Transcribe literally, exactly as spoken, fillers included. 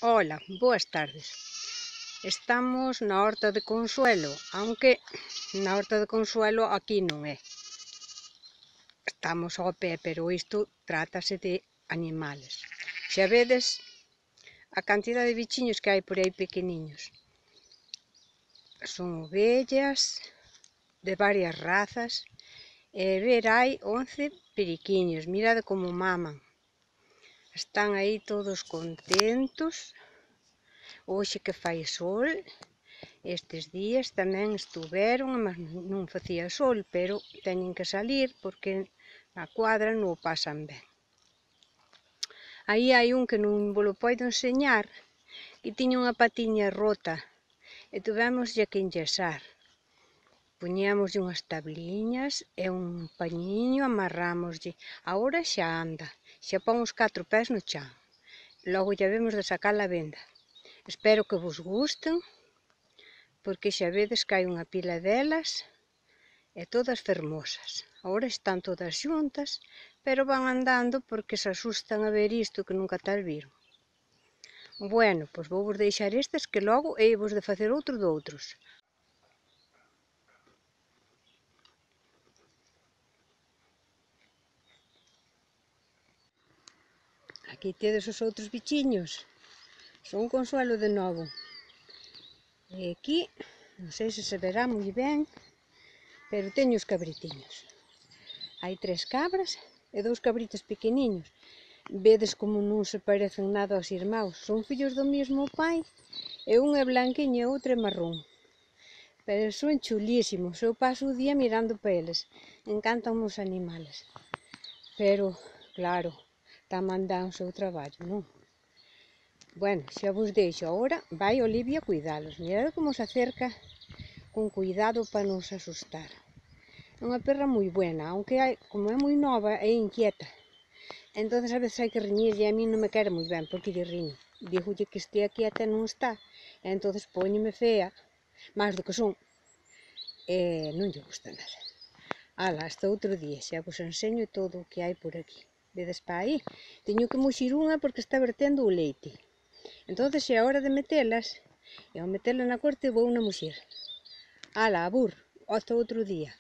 Hola, boas tardes. Estamos na horta de Consuelo, aunque na horta de Consuelo aquí non é. Estamos ao pé, pero isto trátase de animales. Xa vedes a cantidad de bichiños que hai por aí pequeniños. Son ovellas de varias razas e ver hai once periquiños, mirade como maman. Están aí todos contentos. Hoxe que fai sol, estes días tamén estuveron, mas non facía sol, pero teñen que salir porque na cuadra non o pasan ben. Aí hai un que non vos lo podo enseñar, que tiña unha patiña rota e tuvémoslle que enyesar. Poñíamoslle unhas tabliñas e un pañiño, amarrámoslle. Agora xa anda, xa pon os catro pés no chan. Logo lle vemos de sacar a venda. Espero que vos gusten, porque xa vedes que hai unha pila delas e todas fermosas. Agora están todas xuntas, pero van andando porque se asustan a ver isto que nunca tal viron. Bueno, pois vou vos deixar estes que logo hei vos de facer outro de outros. Aquí tedes os outros bichiños. Son Consuelo de novo. E aquí, non sei se se verá moi ben, pero teño os cabritiños. Hai tres cabras e dous cabritos pequeniños. Vedes como non se parecen nada aos irmãos. Son fillos do mesmo pai e un é blanquiño e outro é marrón. Pero son chulísimos. Eu paso o día mirando para eles. Encantan os animales. Pero, claro, tamén dan o seu traballo, non? Bueno, xa vos deixo. Agora vai Olivia a cuidalos. Mirad como se acerca con cuidado para non se asustar. É unha perra moi buena, aunque hai, como é moi nova, é inquieta. Entonces a veces hai que riñirlle, e a mí non me quere moi ben, porque lle riño. Dígolle que estea quieta e non está, e entonces póñeme fea, máis do que son, e non lle gusta nada. Ala, hasta outro día, xa vos enseño todo o que hai por aquí. Vedes pa aí? Teño que muxir unha porque está vertendo o leite. Entonces é a hora de metelas, e ao metelas na corte vou na muxir. Ala, abur, hasta outro día.